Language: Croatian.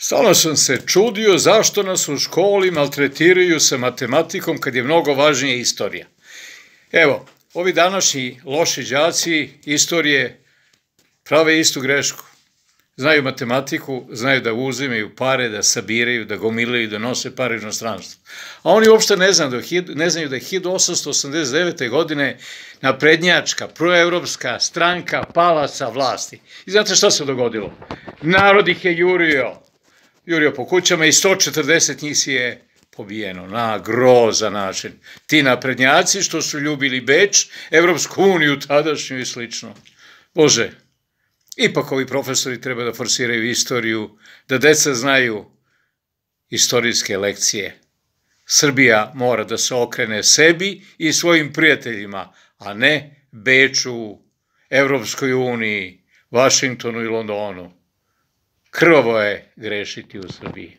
Stalno sam se čudio zašto nas u školi maltretiraju sa matematikom kad je mnogo važnija istorija. Evo, ovi današnji loši đaci istorije prave istu grešku. Znaju matematiku, znaju da uzimaju pare, da sabiraju, da gomilaju, da nose pare u inostranstvo. A oni uopšte ne znaju da je 1889. godine naprednjačka, proevropska stranka pala sa vlasti. I znate šta se dogodilo? Narod ih je jurio po kućama i 140 njih si je pobijeno na grozan način. Ti naprednjaci što su ljubili Beč, Evropsku uniju tadašnju i slično. Bože, ipak ovi profesori treba da forsiraju istoriju, da deca znaju istorijske lekcije. Srbija mora da se okrene sebi i svojim prijateljima, a ne Beču, Evropskoj uniji, Vašingtonu i Londonu. Krvavo je grešiti u Srbiji.